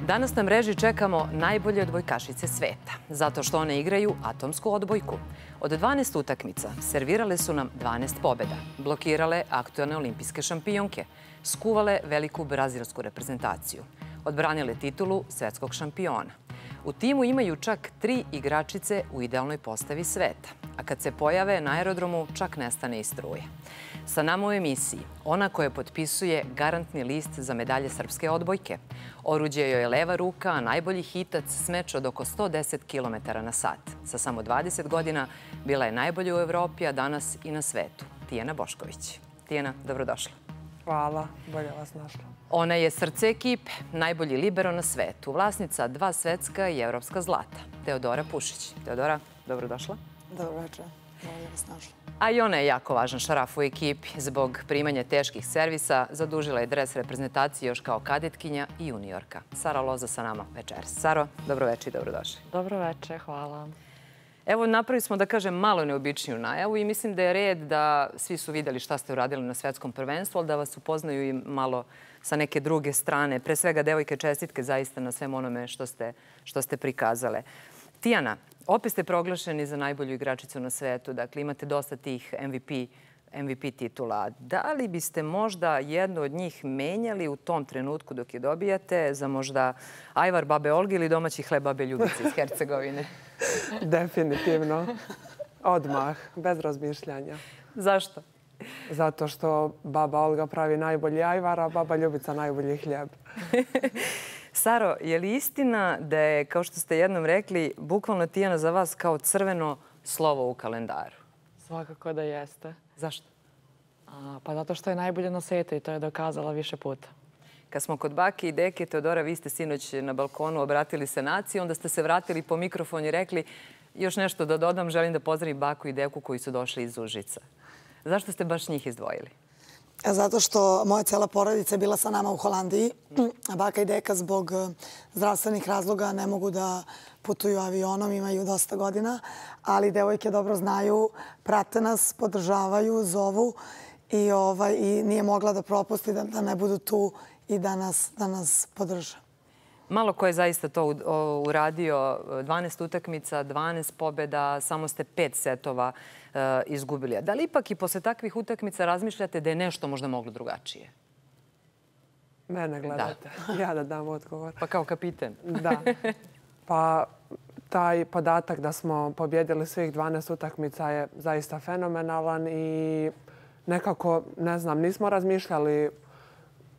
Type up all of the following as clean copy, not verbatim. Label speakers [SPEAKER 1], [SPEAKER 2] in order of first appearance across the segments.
[SPEAKER 1] Danas na mreži čekamo najbolje odbojkašice sveta, zato što one igraju atomsku odbojku. Od 12 utakmica servirale su nam 12 pobjeda, blokirale aktuelne olimpijske šampionke, skuvale veliku brazilsku reprezentaciju, odbranile titulu svetskog šampiona. U timu imaju čak 3 igračice u idealnoj postavi sveta, a kad se pojave na aerodromu čak nestane i struje. Sa nama u emisiji ona koja potpisuje garantni list za medalje srpske odbojke. Oruđe joj je leva ruka, a najbolji hitac smeč od oko 110 km na sat. Sa samo 20 godina bila je najbolja u Evropi, a danas i na svetu. Tijana Bošković. Tijana, dobrodošla.
[SPEAKER 2] Hvala, bolje vas našla.
[SPEAKER 1] Ona je srce ekipe, najbolji libero na svetu, vlasnica 2 svetska i evropska zlata. Teodora Pušić. Teodora, dobrodošla.
[SPEAKER 3] Dobro večer, bolje vas našla.
[SPEAKER 1] A i ona je jako važan šaraf u ekipi. Zbog primanja teških servisa zadužila je dres reprezentacije još kao kadetkinja i juniorka. Sara Loza sa nama večeras. Saro, dobro večer i dobrodošli.
[SPEAKER 2] Dobro večer, hvala.
[SPEAKER 1] Evo, napravili smo, da kažem, malo neobičniju najavu i mislim da je red da svi su vidjeli šta ste uradili na svetskom prvenstvu, ali da vas upoznaju i malo sa neke druge strane. Pre svega, devojke, čestitke zaista na svem onome što ste prikazale. Tijana, opet ste proglašeni za najbolju igračicu na svetu, dakle imate dosta tih MVP titula. Da li biste možda jednu od njih menjali u tom trenutku dok je dobijate za možda ajvar babe Olge ili domaći hleb babe Ljubice iz Hercegovine?
[SPEAKER 2] Definitivno. Odmah, bez razmišljanja.
[SPEAKER 1] Zašto?
[SPEAKER 2] Zato što baba Olga pravi najbolji ajvar, a baba Ljubica najbolji hljeb.
[SPEAKER 1] Saro, je li istina da je, kao što ste jednom rekli, bukvalno Tijana za vas kao crveno slovo u kalendaru?
[SPEAKER 4] Svakako da jeste.
[SPEAKER 1] Zašto?
[SPEAKER 4] Pa zato što je najbolje na svijetu i to je dokazala više puta.
[SPEAKER 1] Kad smo kod bake i deke, Teodora, vi ste sinoć na balkonu obratili se naciji, onda ste se vratili po mikrofon i rekli još nešto da dodam, želim da pozdravim baku i deku koji su došli iz Užica. Zašto ste baš njih izdvojili?
[SPEAKER 3] Zato što moja cijela porodica je bila sa nama u Holandiji, a baka i deka zbog zdravstvenih razloga ne mogu da putuju avionom, imaju dosta godina, ali devojke dobro znaju, prate nas, podržavaju, zovu i nije mogla da propusti da ne budu tu i da nas podrže.
[SPEAKER 1] Malo ko je zaista to uradio, 12 utakmica, 12 pobjeda, samo ste 5 setova izgubili. Da li ipak i posle takvih utakmica razmišljate da je nešto možda moglo drugačije?
[SPEAKER 2] Mene gledate. Ja da dam odgovor.
[SPEAKER 1] Pa kao kapiten.
[SPEAKER 2] Da. Pa taj podatak da smo pobjedili svih 12 utakmica je zaista fenomenalan i nekako, ne znam, nismo razmišljali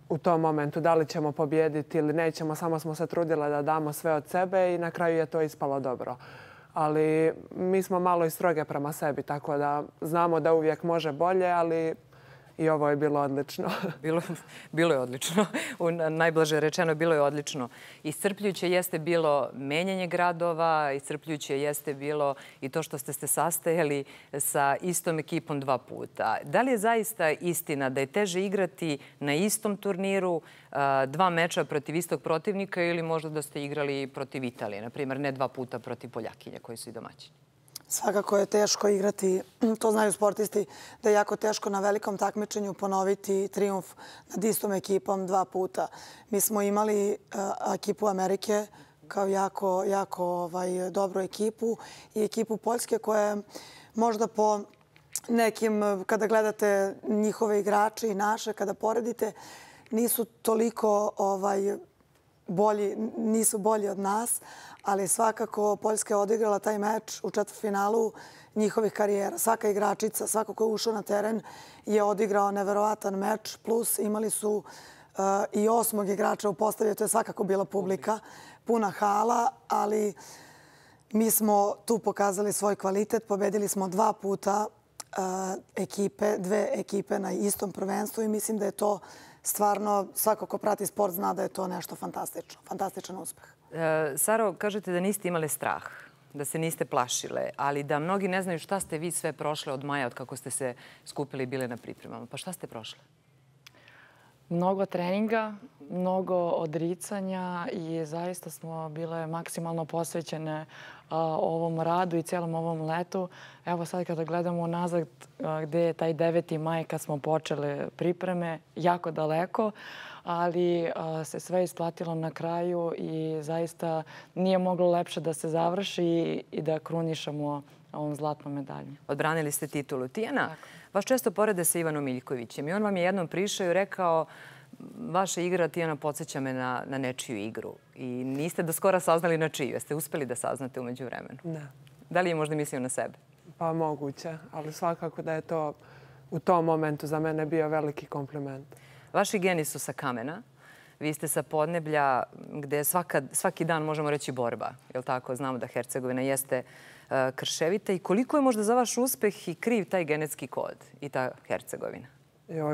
[SPEAKER 2] u tom momentu da li ćemo pobjediti ili nećemo, samo smo se trudile da damo sve od sebe i na kraju je to ispalo dobro. Ali mi smo malo i stroge prema sebi, tako da znamo da uvijek može bolje, ali i ovo je bilo odlično.
[SPEAKER 1] Bilo je odlično. Najblaže rečeno, bilo je odlično. Iscrpljujuće jeste bilo menjanje gradova, iscrpljujuće jeste bilo i to što ste se sastajali sa istom ekipom 2 puta. Da li je zaista istina da je teže igrati na istom turniru 2 meča protiv istog protivnika ili možda da ste igrali protiv Italije, na primjer, ne 2 puta protiv Poljakinja koji su i domaćini?
[SPEAKER 3] Svakako je teško igrati, to znaju sportisti, da je jako teško na velikom takmičenju ponoviti trijumf nad istom ekipom 2 puta. Mi smo imali ekipu Amerike kao jako dobru ekipu i ekipu Poljske koja je možda po nekim, kada gledate njihove igrače i naše, kada poredite, nisu toliko bolji, nisu bolji od nas, ali svakako Poljska je odigrala taj meč u četvrtfinalu njihovih karijera. Svaka igračica, svako ko je ušao na teren je odigrao neverovatan meč, plus imali su i 8. igrača u postavi, to je svakako bila publika, puna hala, ali mi smo tu pokazali svoj kvalitet, pobedili smo 2 puta ekipe, 2 ekipe na istom prvenstvu i mislim da je to stvarno, svako ko prati sport zna da je to nešto fantastično, fantastičan uspeh.
[SPEAKER 1] Saro, kažete da niste imale strah, da se niste plašile, ali da mnogi ne znaju šta ste vi sve prošle od maja, od kako ste se skupili i bile na pripremama. Pa šta ste prošle?
[SPEAKER 4] Mnogo treninga, mnogo odricanja i zaista smo bile maksimalno posvećene ovom radu i cijelom ovom letu. Evo sad kada gledamo nazad gdje je taj 9. maj kad smo počeli pripreme, jako daleko, ali se sve isplatilo na kraju i zaista nije moglo lepše da se završi i da krunišemo ovom zlatnom medaljom.
[SPEAKER 1] Odbranili ste titulu. Tijana, vas često porede sa Ivanom Miljkovićem i on vam je jednom prišao i rekao vaša igra, Tijana, podsjeća me na nečiju igru. I niste do skora saznali na čiju. Jeste uspeli da saznate umeđu vremenu?
[SPEAKER 2] Ne.
[SPEAKER 1] Da li je možda mislio na sebe?
[SPEAKER 2] Pa moguće, ali svakako da je to u tom momentu za mene bio veliki kompliment.
[SPEAKER 1] Vaši geni su sa kamena. Vi ste sa podneblja gde je svaki dan, možemo reći, borba. Je li tako? Znamo da Hercegovina jeste krševita. I koliko je možda za vaš uspeh i kriv taj genetski kod i ta Hercegovina?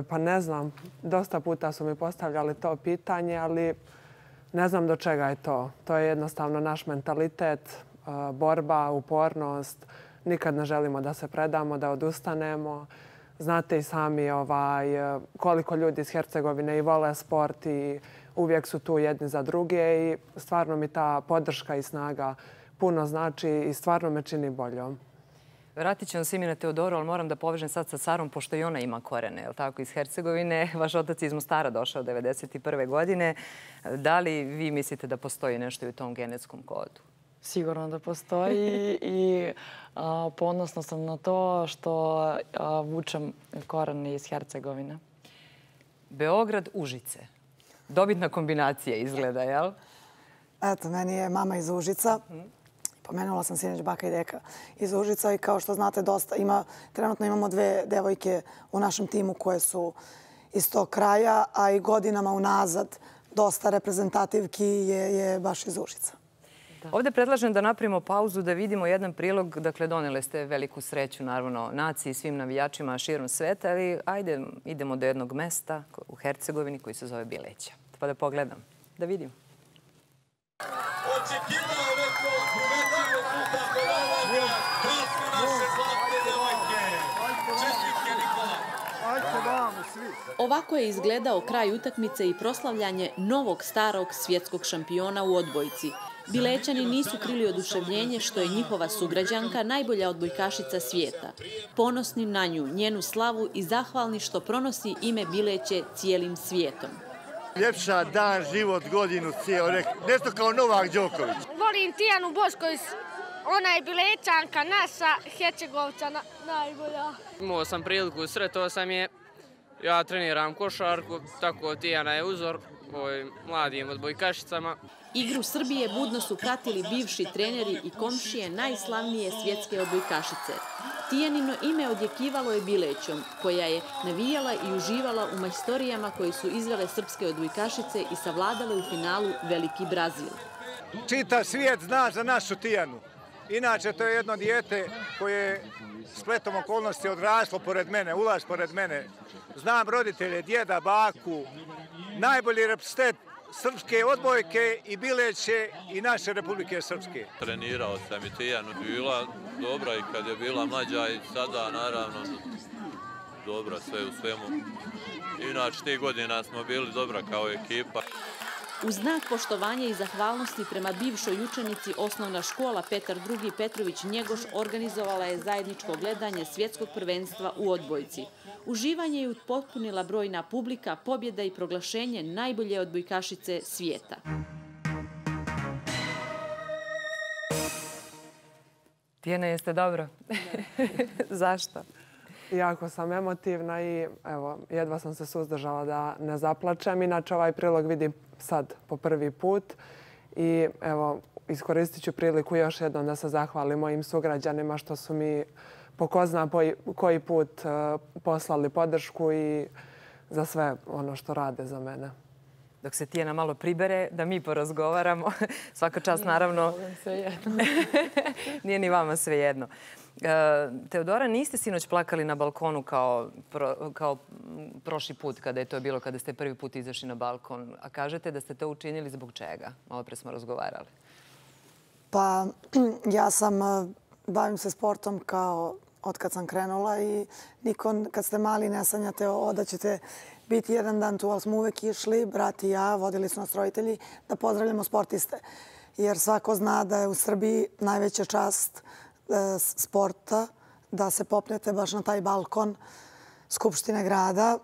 [SPEAKER 2] Pa ne znam. Dosta puta su mi postavljali to pitanje, ali ne znam do čega je to. To je jednostavno naš mentalitet, borba, upornost. Nikad ne želimo da se predamo, da odustanemo. Znate i sami koliko ljudi iz Hercegovine i vole sport i uvijek su tu jedni za druge i stvarno mi ta podrška i snaga puno znači i stvarno me čini boljom.
[SPEAKER 1] Vratit ćemo se mi na Teodoru, ali moram da povežem sad sa Sarom, pošto i ona ima korene, je li tako, iz Hercegovine. Vaš otac je iz Mostara došao 1991. godine. Da li vi mislite da postoji nešto i u tom genetskom kodu?
[SPEAKER 4] Sigurno da postoji i ponosna sam na to što vučem koren iz Hercegovine.
[SPEAKER 1] Beograd, Užice. Dobitna kombinacija izgleda, jel?
[SPEAKER 3] Eto, meni je mama iz Užica. Pomenula sam sinoć baka i deka iz Užica i kao što znate, trenutno imamo 2 devojke u našem timu koje su iz tog kraja, a i godinama unazad dosta reprezentativki je baš iz Užica.
[SPEAKER 1] Ovdje predlažem da napravimo pauzu da vidimo jedan prilog. Dakle, donele ste veliku sreću, naravno, naciji i svim navijačima širom sveta, ali ajde, idemo do jednog mesta u Hercegovini koji se zove Bileća. Pa da pogledam, da vidim.
[SPEAKER 5] Očekivao neko uvedljivo puta Kolovanja, krasne naše zlatne devojke. Čestitke, Nikola.
[SPEAKER 6] Ovako je izgledao kraj utakmice i proslavljanje novog starog svjetskog šampiona u odbojci. Bilećani nisu krili oduševljenje što je njihova sugrađanka najbolja odbojkašica svijeta. Ponosni na nju, njenu slavu i zahvalni što pronosi ime Bileće cijelim svijetom.
[SPEAKER 7] Ljepša dan, život, godinu, cijel, nešto kao Novak Đoković.
[SPEAKER 8] Volim Tijanu Bošković, ona je Bilećanka, naša Hercegovca najbolja.
[SPEAKER 9] Imao sam priliku, sretao sam je. Ja treniram košarku, tako Tijana je uzor mladim odbojkašicama.
[SPEAKER 6] Igru Srbije budno su pratili bivši treneri i komšije najslavnije svjetske odbojkašice. Tijanino ime odjekivalo je Bilećom, koja je navijala i uživala u majstorijama koje su izvele srpske odbojkašice i savladale u finalu Veliki Brazil.
[SPEAKER 7] Čitav svijet zna za našu Tijanu. Inače, to je jedno dijete koje je spletom okolnosti odraslo pored mene, ulaz pored mene. Znam roditelje, djeda, baku, najbolji reprezentant srpske odbojke i Bileće i naše Republike Srpske.
[SPEAKER 10] Trenirao sam i Tijanu, bila dobra i kad je bila mlađa i sada naravno dobra sve u svemu. Inače, tih godina smo bili dobra kao ekipa.
[SPEAKER 6] U znak poštovanja i zahvalnosti prema bivšoj učenici osnovna škola Petar II. Petrović Njegoš organizovala je zajedničko gledanje svjetskog prvenstva u odbojci. Uživanje je upotpunila brojna publika, pobjeda i proglašenje najbolje odbojkašice svijeta.
[SPEAKER 1] Tijana, jeste dobro? Zašto?
[SPEAKER 2] Jako sam emotivna i evo, jedva sam se suzdržala da ne zaplačem. Inače, ovaj prilog vidim sad po prvi put i evo, iskoristit ću priliku još jednom da se zahvalim mojim sugrađanima što su mi po ko zna koji put poslali podršku i za sve ono što rade za mene.
[SPEAKER 1] Dok se Tijana malo pribere, da mi porazgovaramo. Svaka čast, naravno. Nije ni vama svejedno. Teodora, niste sinoć plakali na balkonu kao prošli put kada je to bilo, kada ste prvi put izašli na balkon. A kažete da ste to učinili zbog čega? Malo pre smo razgovarali.
[SPEAKER 3] Pa ja bavim se sportom kao od kad sam krenula i niko kad ste mali ne sanjate da ćete biti jedan dan tu, ali smo uvek išli, brat i ja, vodili su nas roditelji, da pozdravljamo sportiste. Jer svako zna da je u Srbiji najveća čast sporta da se popnete baš na taj balkon Skupštine grada.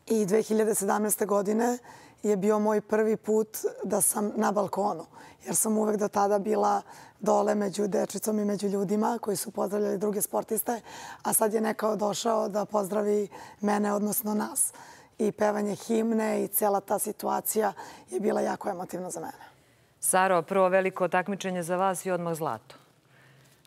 [SPEAKER 3] I 2017. godine je bio moj prvi put da sam na balkonu. Jer sam uvek do tada bila dole među dečicom i među ljudima koji su pozdravljali druge sportiste. A sad je neko došao da pozdravi mene, odnosno nas. I pevanje himne i cijela ta situacija je bila jako emotivna za mene.
[SPEAKER 1] Saro, prvo veliko takmičenje za vas i odmah zlato.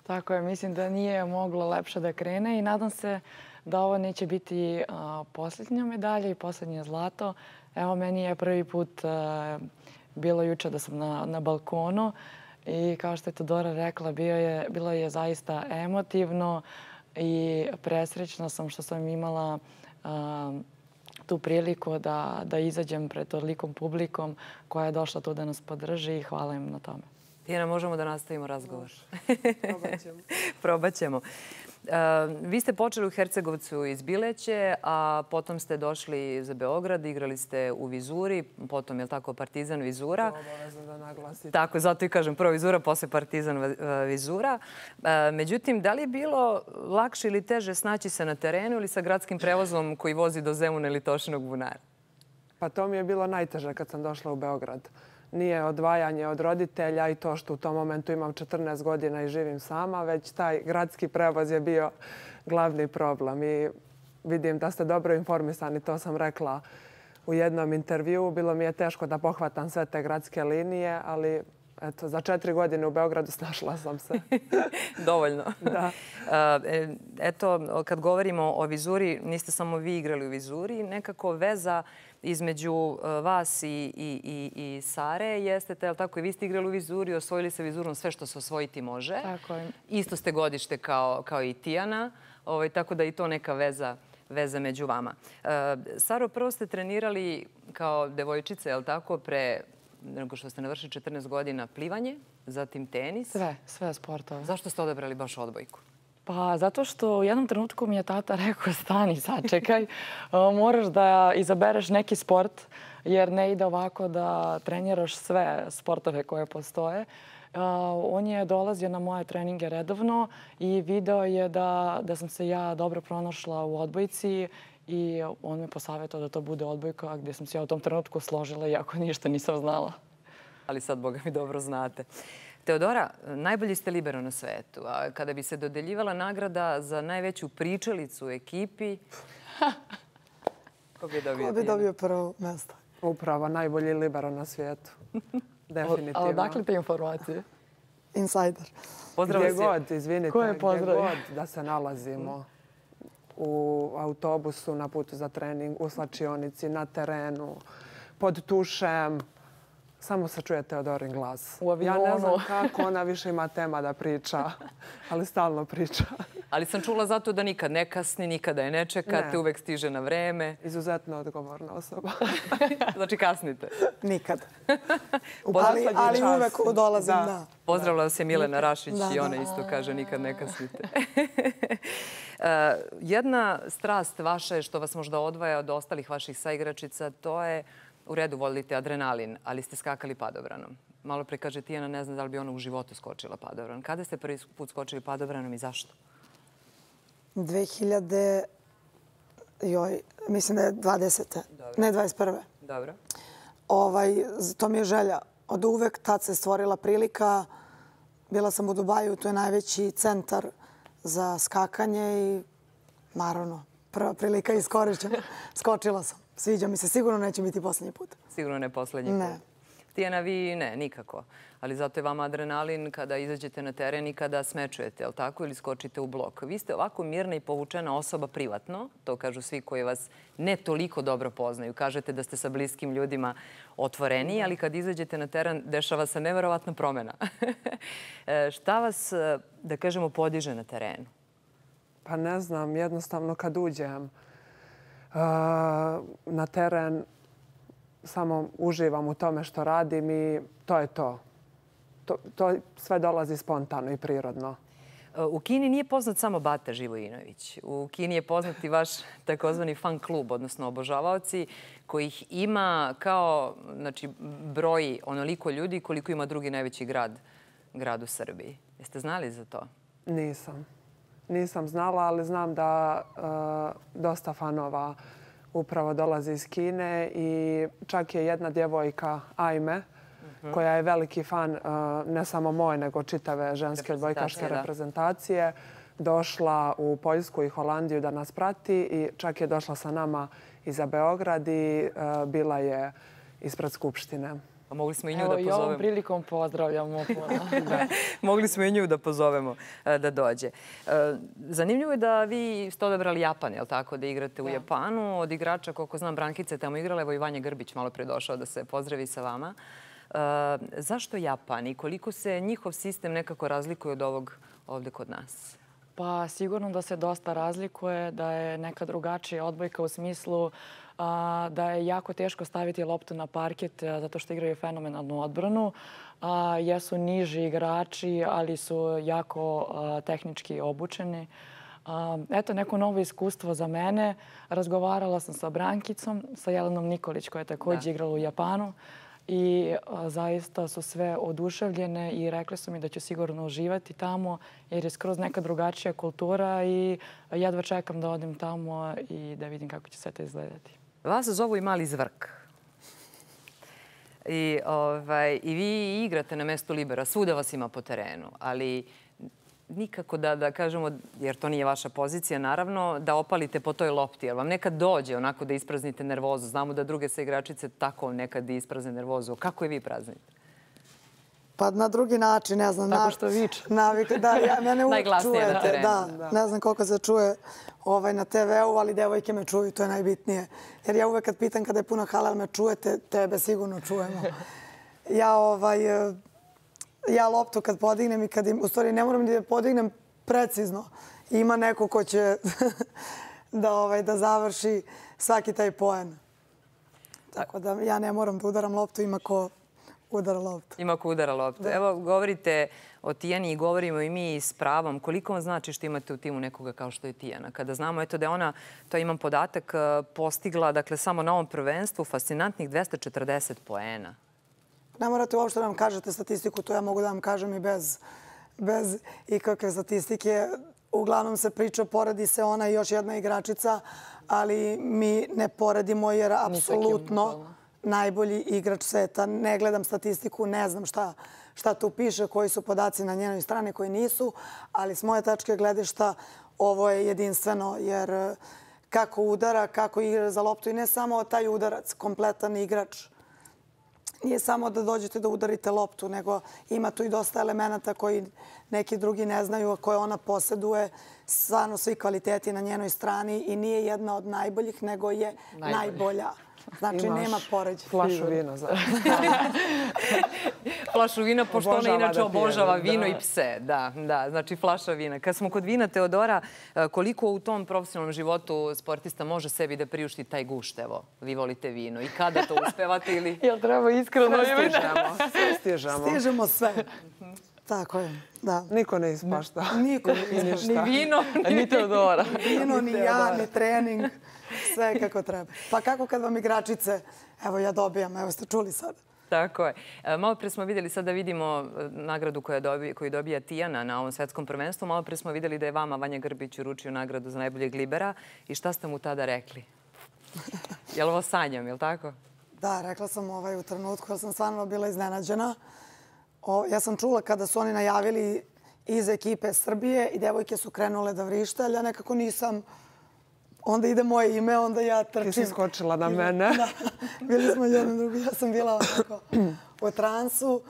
[SPEAKER 4] Tako je, mislim da nije moglo lepše da krene i nadam se da ovo neće biti posljednja medalja i posljednje zlato. Evo, meni je prvi put bilo juče da sam na balkonu i kao što je Teodora rekla, bilo je zaista emotivno i presrećna sam što sam imala tu priliku da izađem pred tolikom publikom koja je došla tu da nas podrži i hvala im na tome.
[SPEAKER 1] Tijana, možemo da nastavimo razgovor?
[SPEAKER 2] Probat ćemo.
[SPEAKER 1] Probat ćemo. Vi ste počeli u Hercegovcu iz Bileće, a potom ste došli za Beograd, igrali ste u Vizuri, potom, je li tako, Partizan Vizura.
[SPEAKER 2] To obavezno da naglasite.
[SPEAKER 1] Tako, zato i kažem prvo Vizura, posle Partizan Vizura. Međutim, da li je bilo lakše ili teže snaći se na terenu ili sa gradskim prevozom koji vozi do Zemuna ili Tošinog bunara?
[SPEAKER 2] Pa to mi je bilo najteže kad sam došla u Beograd. Nije odvajanje od roditelja i to što u tom momentu imam 14 godina i živim sama, već taj gradski prevoz je bio glavni problem. I vidim da ste dobro informisani, to sam rekla u jednom intervjuu. Bilo mi je teško da pohvatam sve te gradske linije, ali eto, za 4 godine u Beogradu snašla sam se.
[SPEAKER 1] Dovoljno.
[SPEAKER 2] Da.
[SPEAKER 1] Eto, kad govorimo o Vizuri, niste samo vi igrali u Vizuri, nekako veza između vas i Sare jeste, tako i vi ste igrali u Vizuri, osvojili se Vizurom sve što se osvojiti može.
[SPEAKER 4] Tako je.
[SPEAKER 1] Isto ste godište kao i Tijana, tako da i to neka veza među vama. Saro, prvo ste trenirali kao devojčice, je li tako, pre nego što ste navršili 14 godina plivanje, zatim tenis.
[SPEAKER 4] Sve sportove.
[SPEAKER 1] Zašto ste odabrali baš odbojku?
[SPEAKER 4] Pa zato što u jednom trenutku mi je tata rekao stani, sačekaj, moraš da izabereš neki sport jer ne ide ovako da treniraš sve sportove koje postoje. On je dolazio na moje treninge redovno i video je da sam se ja dobro pronašla u odbojci i on me posavjetao da to bude odbojka gdje sam se ja u tom trenutku složila iako ništa nisam znala.
[SPEAKER 1] Ali sad, Boga mi, dobro znate. Teodora, najbolji ste libero na svetu. A kada bi se dodeljivala nagrada za najveću pričalicu u ekipi, ko bi dobio?
[SPEAKER 3] Ko bi dobio prvo mjesto?
[SPEAKER 2] Upravo, najbolji libero na svijetu. Definitivno.
[SPEAKER 4] Ali odakle te informacije?
[SPEAKER 3] Insider.
[SPEAKER 2] Gdje god, izvinite,
[SPEAKER 4] Ko je
[SPEAKER 2] gdje
[SPEAKER 4] pozdravio?
[SPEAKER 2] god da se nalazimo. U autobusu, na putu za trening, u slačionici, na terenu, pod tušem. Samo se čuje Teodorin glas.
[SPEAKER 4] U avionu.
[SPEAKER 2] Ja ne znam kako ona više ima tema da priča, ali stalno priča.
[SPEAKER 1] Ali sam čula zato da nikad ne kasni, nikada je ne čekate, uvek stiže na vreme.
[SPEAKER 2] Izuzetno odgovorna osoba.
[SPEAKER 1] Znači kasnite.
[SPEAKER 3] Nikad. Ali uvek dolazim, da.
[SPEAKER 1] Pozdravila vas je Milena Rašić i ona isto kaže nikad ne kasnite. Jedna strast vaša je što vas možda odvaja od ostalih vaših saigračica, to je u redu volite adrenalin, ali ste skakali padobranom. Malo pre kaže Tijana, ne zna da li bi ona u životu skočila padobran. Kada ste prvi put skočili padobranom i zašto?
[SPEAKER 3] 2000, mislim da je 20. Ne 21.
[SPEAKER 1] Dobro.
[SPEAKER 3] To mi je želja. Od uvek tad se stvorila prilika. Bila sam u Dubaju, to je najveći centar za skakanje i naravno prva prilika iskorišćena. Skočila sam. Sviđa mi se. Sigurno neće biti posljednji put.
[SPEAKER 1] Sigurno ne posljednji put.
[SPEAKER 3] Ne.
[SPEAKER 1] Tijana, vi ne, nikako. Ali zato je vama adrenalin kada izađete na teren i kada smečujete, je li tako? Ili skočite u blok. Vi ste ovako mirna i povučena osoba privatno. To kažu svi koji vas ne toliko dobro poznaju. Kažete da ste sa bliskim ljudima otvoreniji, ali kad izađete na teren dešava se neverovatna promjena. Šta vas, da kažemo, podiže na terenu?
[SPEAKER 2] Pa ne znam, jednostavno kad uđem na teren, samo uživam u tome što radim i to je to. To sve dolazi spontano i prirodno.
[SPEAKER 1] U Kini nije poznat samo Bata Živojinović. U Kini je poznat i vaš takozvani fan klub, odnosno obožavaoci, kojih ima kao, znači, broji onoliko ljudi koliko ima drugi najveći grad u Srbiji. Jeste znali za to?
[SPEAKER 2] Nisam znala, ali znam da dosta fanova upravo dolazi iz Kine i čak je jedna djevojka, Ajme, koja je veliki fan ne samo moje, nego čitave ženske odbojkaške reprezentacije, došla u Poljsku i Holandiju da nas prati i čak je došla sa nama i za Beograd i bila je ispred Skupštine.
[SPEAKER 1] Mogli smo i nju da pozovemo.
[SPEAKER 4] Evo i ovom prilikom pozdravljamo.
[SPEAKER 1] Mogli smo i nju da pozovemo da dođe. Zanimljivo je da vi ste odabrali Japan, je li tako, da igrate u Japanu. Od igrača, koliko znam, Brankica je tamo igrala, evo i Vanja Grbić malo pre došao da se pozdravi sa vama. Zašto Japan i koliko se njihov sistem nekako razlikuje od ovog ovdje kod nas?
[SPEAKER 4] Pa sigurno da se dosta razlikuje, da je neka drugačija odbojka u smislu da je jako teško staviti loptu na parket zato što igraju fenomenalnu odbranu. Jesu niži igrači, ali su jako tehnički obučeni. Eto, neko novo iskustvo za mene. Razgovarala sam sa Brankicom, sa Jelenom Nikolić koja je također igrala u Japanu. I zaista su sve oduševljene i rekli su mi da ću sigurno uživati tamo jer je skroz neka drugačija kultura i jedva čekam da odem tamo i da vidim kako će sve to izgledati.
[SPEAKER 1] Vas zovu i mali zvrk. I vi igrate na mestu libera, svuda vas ima po terenu, ali nikako da kažemo, jer to nije vaša pozicija, naravno, da opalite po toj lopti. Jer vam nekad dođe onako da ispraznite nervozu. Znamo da druge sa igračice tako nekad isprazne nervozu. Kako je vi praznite?
[SPEAKER 3] Pa na drugi način, ne znam.
[SPEAKER 4] Tako što viče.
[SPEAKER 3] Mene uvijek
[SPEAKER 1] najglasnije na terenu.
[SPEAKER 3] Da, ne znam koliko se čuje na TV-u, ali devojke me čuju, to je najbitnije. Jer ja uvijek kad pitam kada je puno hala, me čujete, tebe sigurno čujemo. Ja loptu kad podignem i kad u stvari ne moram da je podignem precizno. Ima neko ko će da završi svaki taj poen. Tako da ja ne moram da udaram loptu, ima ko udara loptu.
[SPEAKER 1] Ima ko udara loptu. Evo, govorite o Tijani i govorimo i mi s pravom. Koliko vam znači što imate u timu nekoga kao što je Tijana? Kada znamo da je ona, to imam podatak, postigla, dakle, samo na ovom prvenstvu fascinantnih 240 poena.
[SPEAKER 3] Ne morate uopšte da vam kažete statistiku, to ja mogu da vam kažem i bez ikakve statistike. Uglavnom se priča, poredi se ona i još jedna igračica, ali mi ne poredimo jer apsolutno najbolji igrač sveta. Ne gledam statistiku, ne znam šta tu piše, koji su podaci na njenoj strani, koji nisu, ali s moje tačke gledišta ovo je jedinstveno jer kako udara, kako igra za loptu i ne samo taj udarac, kompletan igrač. Nije samo da dođete da udarite loptu, nego ima tu i dosta elemenata koji neki drugi ne znaju, a koje ona posjeduje. Stvarno svi kvaliteti na njenoj strani i nije jedna od najboljih, nego je najbolja. Znači, nema poređenja.
[SPEAKER 2] Flašu vina.
[SPEAKER 1] Flašu vina, pošto ona inače obožava vino i pse. Da, znači flaša vina. Kad smo kod vina, Teodora, koliko u tom profesionalnom životu sportista može sebi da priušti taj gušt? Evo, vi volite vino. I kada to uspevate ili...
[SPEAKER 4] Jel treba iskreno
[SPEAKER 2] Stižemo.
[SPEAKER 3] Stižemo sve. Tako je, da.
[SPEAKER 2] Niko ne ispašta.
[SPEAKER 3] Niko ne ispašta.
[SPEAKER 1] Ni vino,
[SPEAKER 4] ni Teodora.
[SPEAKER 3] Vino, ni ja, ni trening. Sve kako treba. Pa kako kad vam igračice, evo ja dobijam, evo ste čuli sad.
[SPEAKER 1] Tako je. Malo pre smo vidjeli, sad da vidimo nagradu koju dobija Tijana na ovom svetskom prvenstvu. Malo pre smo vidjeli da je vama Vanja Grbić uručio nagradu za najboljeg libera. I šta ste mu tada rekli? Je li ovo sanjam, je li tako?
[SPEAKER 3] Da, rekla sam u trenutku, jer sam stvarno bila iznenađena. Ja sam čula kada su oni najavili iz ekipe Srbije i devojke su krenule da vrište, ali ja nekako nisam... Onda ide moje ime, onda ja trčim.
[SPEAKER 2] Ti si skočila na mene.
[SPEAKER 3] Bili smo jedno drugo. Ja sam bila u transu.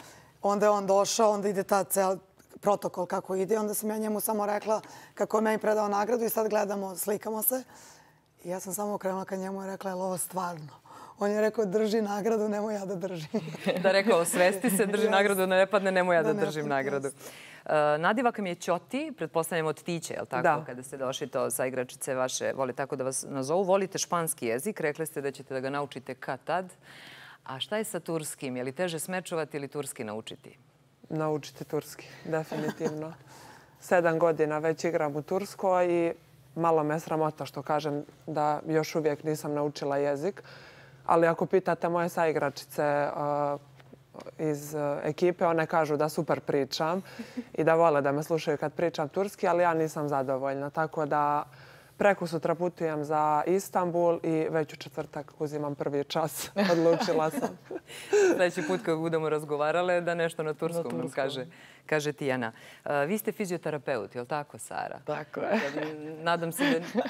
[SPEAKER 3] Onda je on došao, onda ide ta cel protokol kako ide. Onda sam ja njemu samo rekla kako je meni predao nagradu i sad gledamo, slikamo se. I ja sam samo okrenula ka njemu i rekla, je li ovo stvarno? On je rekao, drži nagradu, nemoj ja da držim.
[SPEAKER 1] Da rekao, svesti se, drži nagradu, da ne padne, nemoj ja da držim nagradu. Nadiva mi je Ćoti, pretpostavljamo od Tiće, je li tako? Kada ste došli to sa igračice vaše, voli tako da vas nazovu. Volite španski jezik, rekli ste da ćete da ga naučite kad tad. A šta je sa turskim? Je li teže smečovati ili turski naučiti?
[SPEAKER 2] Naučiti turski, definitivno. 7 godina već igram u Turskoj i malo me sramota što kažem da još uvijek nisam naučila jezik. Ali ako pitate moje saigračice iz ekipe, one kažu da super pričam i da vole da me slušaju kad pričam turski, ali ja nisam zadovoljna. Tako da prekosutra putujem za Istanbul i već u četvrtak uzimam prvi čas. Odlučila sam.
[SPEAKER 1] Sljedeći put kad budemo razgovarale da nešto na turskom nam kaže Tijana. Vi ste fizioterapeut, je li tako, Sara?
[SPEAKER 4] Tako je.
[SPEAKER 1] Nadam se da...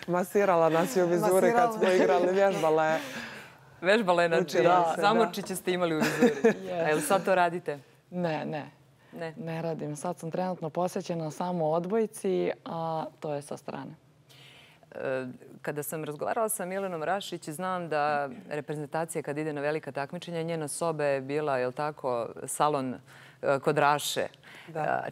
[SPEAKER 2] Masirala nas je u vizuri kad smo igrali, vježbale.
[SPEAKER 1] Vežbale, znači zamorčiće ste imali u vizuri. A jel sad to radite?
[SPEAKER 4] Ne radim. Sad sam trenutno posvećena samo odbojci, a to je sa strane.
[SPEAKER 1] Kada sam razgovarala sa Milenom Rašić, znam da reprezentacija kad ide na velika takmičenja, njena soba je bila, je li tako, salon kod Raše.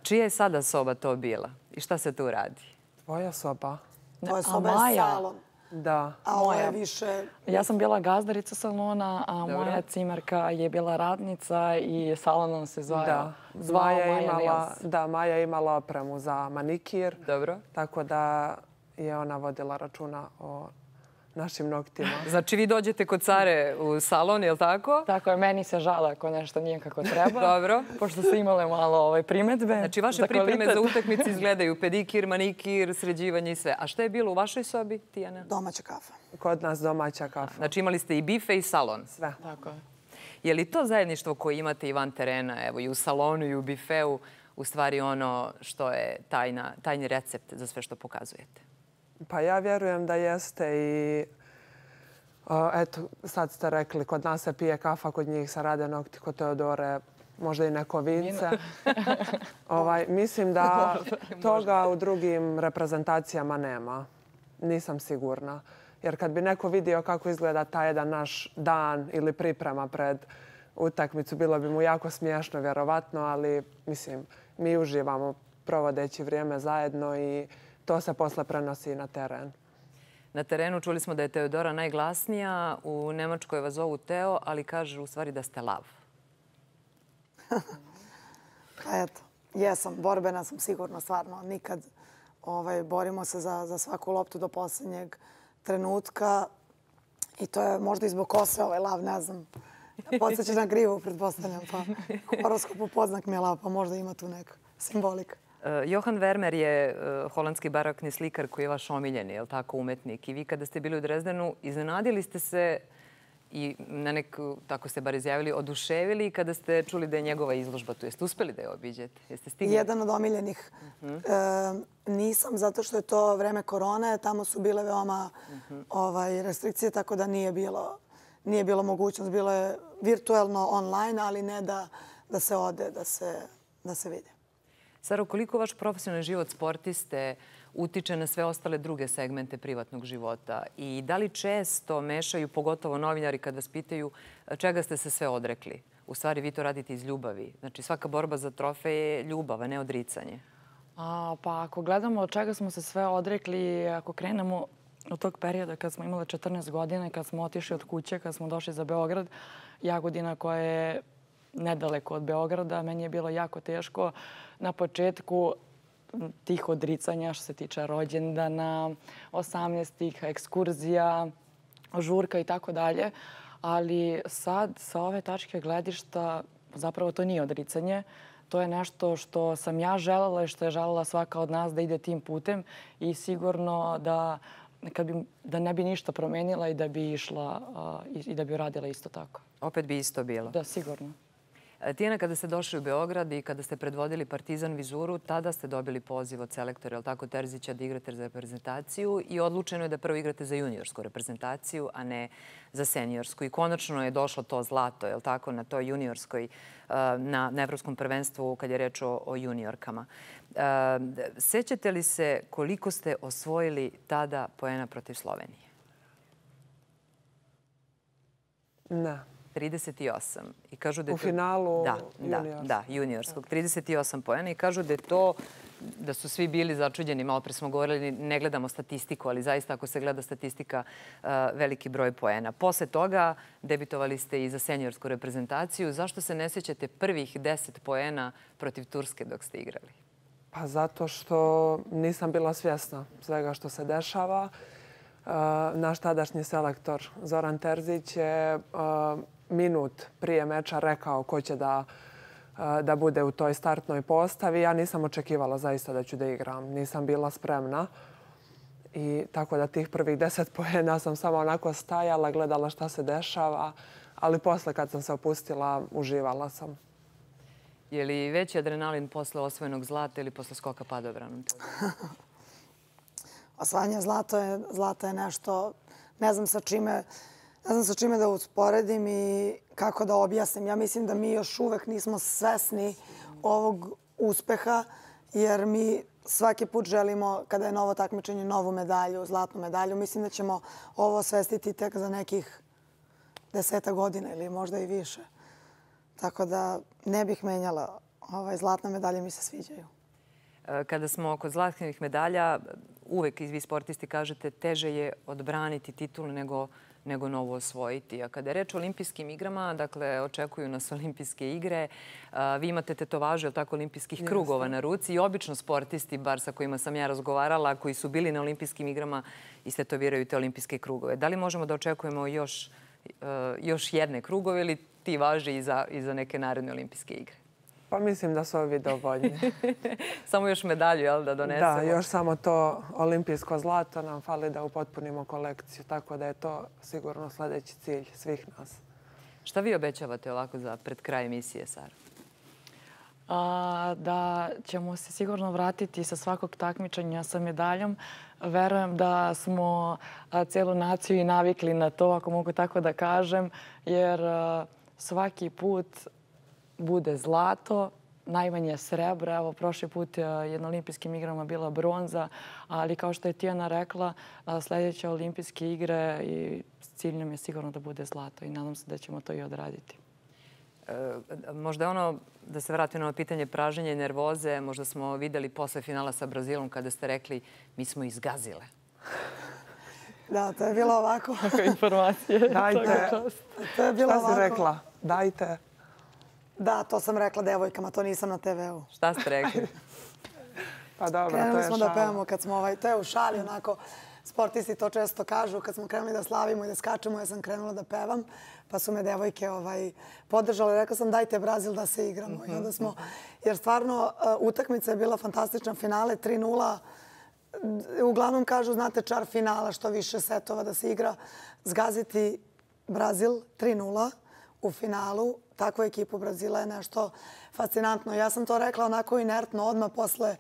[SPEAKER 1] Čija je sada soba to bila i šta se tu radi?
[SPEAKER 2] Tvoja soba.
[SPEAKER 3] Tvoja soba je salon.
[SPEAKER 2] Da.
[SPEAKER 3] A ovo je više...
[SPEAKER 4] Ja sam bila gazdarica salona, a moja cimerka je bila radnica i salon nam se zvao Maja Nils.
[SPEAKER 2] Da, Maja je imala opremu za manikir.
[SPEAKER 1] Dobro.
[SPEAKER 2] Tako da je ona vodila računa o našim noktima.
[SPEAKER 1] Znači vi dođete kod Sare u salon, je li tako?
[SPEAKER 4] Tako je, meni se žala ako nešto nije kako treba.
[SPEAKER 1] Dobro.
[SPEAKER 4] Pošto su imale malo primetbe.
[SPEAKER 1] Znači vaše pripreme za utakmice izgledaju pedikir, manikir, sređivanje i sve. A šta je bilo u vašoj sobi, Tijana?
[SPEAKER 3] Domaća kafa.
[SPEAKER 2] Kod nas domaća kafa.
[SPEAKER 1] Znači imali ste i bife i salon?
[SPEAKER 2] Sve.
[SPEAKER 4] Tako je.
[SPEAKER 1] Je li to zajedništvo koje imate i van terena, evo i u salonu i u bifeu, u stvari ono što je tajni recept za sve što pokazujete?
[SPEAKER 2] Pa ja vjerujem da jeste i eto, sad ste rekli, kod nas se pije kafa, kod njih se rade nokti, kod Teodore možda i neko vince. Mislim da toga u drugim reprezentacijama nema. Nisam sigurna. Jer kad bi neko vidio kako izgleda taj jedan naš dan ili priprema pred utakmicu, bilo bi mu jako smiješno, vjerovatno, ali mislim, mi uživamo provodeći vrijeme zajedno i to se posle prenosi na teren.
[SPEAKER 1] Na terenu čuli smo da je Teodora najglasnija, u Nemačkoj vas zovu Teo, ali kaže u stvari da ste lav.
[SPEAKER 3] Pa eto, jesam, borbena sam sigurno, stvarno. Nikad borimo se za svaku loptu do posljednjeg trenutka i to je možda i zbog kose lav, ne znam. Podsjeća na grivu, pretpostavljam, pa horoskopu podznak mi je lav, pa možda ima tu neka simbolika.
[SPEAKER 1] Johan Vermeer je holandski barokni slikar koji je vaš omiljeni, je li tako, umetnik. I vi kada ste bili u Drezdenu, iznenadili ste se i na neku, tako ste bar izjavili, oduševili kada ste čuli da je njegova izložba tu. Jeste uspeli da je obiđete? Jeste stigli?
[SPEAKER 3] Jedan od omiljenih. Nisam, zato što je to vreme korone. Tamo su bile veoma restrikcije, tako da nije bilo mogućnost. Bilo je virtuelno online, ali ne da se ode, da se vidi.
[SPEAKER 1] Saro, koliko vaš profesionalni život sportiste utiče na sve ostale druge segmente privatnog života? I da li često mešaju, pogotovo novinari, kad vas pitaju čega ste se sve odrekli? U stvari, vi to radite iz ljubavi. Znači, svaka borba za trofej je ljubav, a ne odricanje.
[SPEAKER 4] Pa ako gledamo od čega smo se sve odrekli, ako krenemo od tog perioda kad smo imali 14 godina, kad smo otišli od kuće, kad smo došli za Beograd, Jagodina koja je nedaleko od Beograda, meni je bilo jako teško na početku tih odricanja što se tiče rođendana, 18-ih, ekskurzija, žurka i tako dalje. Ali sad, sa ove tačke gledišta, zapravo to nije odricanje. To je nešto što sam ja želela i što je želela svaka od nas da ide tim putem i sigurno da ne bi ništa promenila i da bi išla i da bi radila isto tako.
[SPEAKER 1] Opet bi isto bilo?
[SPEAKER 4] Da, sigurno.
[SPEAKER 1] Tijana, kada ste došli u Beograd i kada ste predvodili Partizan Vizuru, tada ste dobili poziv od selektora, je li tako, Terzića, da igrate za reprezentaciju i odlučeno je da prvo igrate za juniorsku reprezentaciju, a ne za seniorsku. I konačno je došlo to zlato, je li tako, na toj juniorskoj, na Evropskom prvenstvu kad je reč o juniorkama. Sećate li se koliko ste osvojili tada poena protiv Slovenije?
[SPEAKER 2] Ne.
[SPEAKER 1] 38. I kažu da
[SPEAKER 2] u finalu
[SPEAKER 1] juniorskog. Da, juniorskog. 38 poena i kažu da je to, da su svi bili začuđeni. Malo pre smo govorili, ne gledamo statistiku, ali zaista ako se gleda statistika, veliki broj poena. Posle toga debitovali ste i za seniorsku reprezentaciju. Zašto se ne sjećate prvih 10 poena protiv Turske dok ste igrali?
[SPEAKER 2] Pa zato što nisam bila svjesna svega što se dešava. Naš tadašnji selektor Zoran Terzić je minut prije meča rekao ko će da bude u toj startnoj postavi. Ja nisam očekivala zaista da ću da igram. Nisam bila spremna. I tako da tih prvih 10 poena sam samo onako stajala, gledala šta se dešava. Ali posle kad sam se opustila, uživala sam.
[SPEAKER 1] Je li veći adrenalin posle osvojenog zlata ili posle skoka padobranom?
[SPEAKER 3] Osvajanje zlata je nešto, ne znam sa čime da usporedim i kako da objasnim. Ja mislim da mi još uvek nismo svesni ovog uspeha, jer mi svaki put želimo, kada je novo takmičenje, novu medalju, zlatnu medalju. Mislim da ćemo ovo osvestiti tek za nekih 10 godina ili možda i više. Tako da ne bih menjala. Zlatne medalje mi se sviđaju.
[SPEAKER 1] Kada smo kod zlatnih medalja, uvek vi sportisti kažete teže je odbraniti titulu nego novo osvojiti. A kada je reč o olimpijskim igrama, dakle, očekuju nas olimpijske igre. Vi imate tetovaže, tako, olimpijskih krugova na ruci i obično sportisti, bar sa kojima sam ja razgovarala, koji su bili na olimpijskim igrama, istetoviraju te olimpijske krugove. Da li možemo da očekujemo još jedne krugove ili ti važe i za neke naredne olimpijske igre?
[SPEAKER 2] Pa mislim da su ovi dovoljni.
[SPEAKER 1] Samo još medalju, jel, da donesemo?
[SPEAKER 2] Da, još samo to olimpijsko zlato nam fali da upotpunimo kolekciju. Tako da je to sigurno sljedeći cilj svih nas.
[SPEAKER 1] Šta vi obećavate ovako za pred kraj emisije, Sara?
[SPEAKER 4] Da ćemo se sigurno vratiti sa svakog takmičenja sa medaljom. Verujem da smo celu naciju i navikli na to, ako mogu tako da kažem, jer svaki put bude zlato, najmanje srebra. Evo, prošli put je na olimpijskim igrama bila bronza, ali kao što je Tijana rekla, sljedeće olimpijske igre i cilj nam je sigurno da bude zlato i nadam se da ćemo to i odraditi.
[SPEAKER 1] Možda ono, da se vratim na ono pitanje praženja i nervoze, možda smo vidjeli posle finala sa Brazilom kada ste rekli mi smo izgazile.
[SPEAKER 3] Da, to je bilo ovako.
[SPEAKER 4] Tako informacije.
[SPEAKER 2] Dajte.
[SPEAKER 3] To je bilo ovako.
[SPEAKER 2] Šta si rekla? Dajte.
[SPEAKER 3] Da, to sam rekla devojkama, to nisam na TV-u.
[SPEAKER 1] Šta ste rekli?
[SPEAKER 2] Pa dobro, to je
[SPEAKER 3] krenuli smo
[SPEAKER 2] šala.
[SPEAKER 3] da pevamo kad smo, to je u šali, onako, sportisti to često kažu, kad smo krenuli da slavimo i da skačemo, ja sam krenula da pevam, pa su me devojke podržale. Rekla sam dajte Brazil da se igramo. I onda smo, jer stvarno utakmica je bila fantastična, finale 3:0. Uglavnom kažu, znate, čar finala, što više setova da se igra, zgaziti Brazil 3:0 u finalu. Takvu ekipu Brazila je nešto fascinantno. Ja sam to rekla onako inertno odmah posle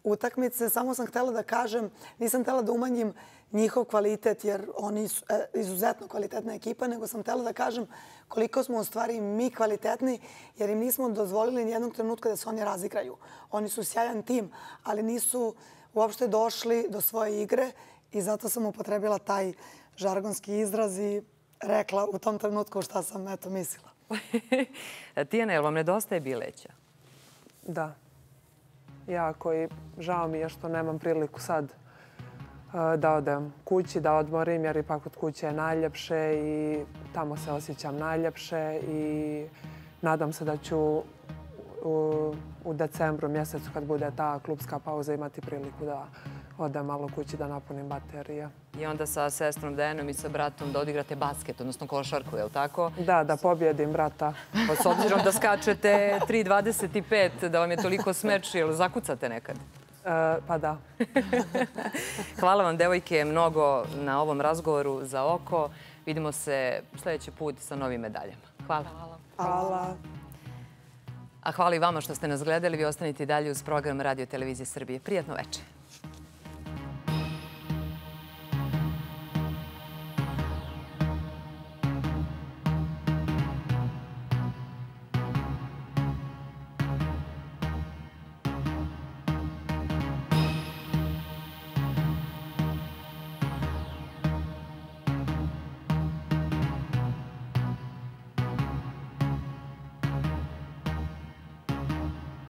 [SPEAKER 3] utakmice. Samo sam htjela da kažem, nisam htjela da umanjim njihov kvalitet, jer oni su izuzetno kvalitetna ekipa, nego sam htjela da kažem koliko smo u stvari mi kvalitetni, jer im nismo dozvolili nijednog trenutka da se oni razigraju. Oni su sjajan tim, ali nisu uopšte došli do svoje igre i zato sam upotrebila taj žargonski izraz i rekla u tom trenutku šta sam mislila.
[SPEAKER 1] Tijana, jel vam nedostaje Bileća?
[SPEAKER 2] Da. Jako i žao mi je što nemam priliku sad da odem kući, da odmorim, jer ipak od kuće je najljepše i tamo se osjećam najljepše i nadam se da ću u decembru mjesecu kad bude ta klubska pauza imati priliku da odem malo kući da napunim baterije.
[SPEAKER 1] I onda sa sestrom Dejanom i sa bratom da odigrate basket, odnosno košarku, je li tako?
[SPEAKER 2] Da, da pobjedim brata.
[SPEAKER 1] Pa s obzirom da skačete 3,25, da vam je toliko smeč, jel zakucate nekad?
[SPEAKER 2] Pa da.
[SPEAKER 1] Hvala vam, devojke, mnogo na ovom razgovoru za oko. Vidimo se sljedeći put sa novim medaljama. Hvala.
[SPEAKER 2] Hvala.
[SPEAKER 1] A hvala i vama što ste nas gledali. Vi ostanite i dalje uz program Radio Televizije Srbije. Prijatno večer.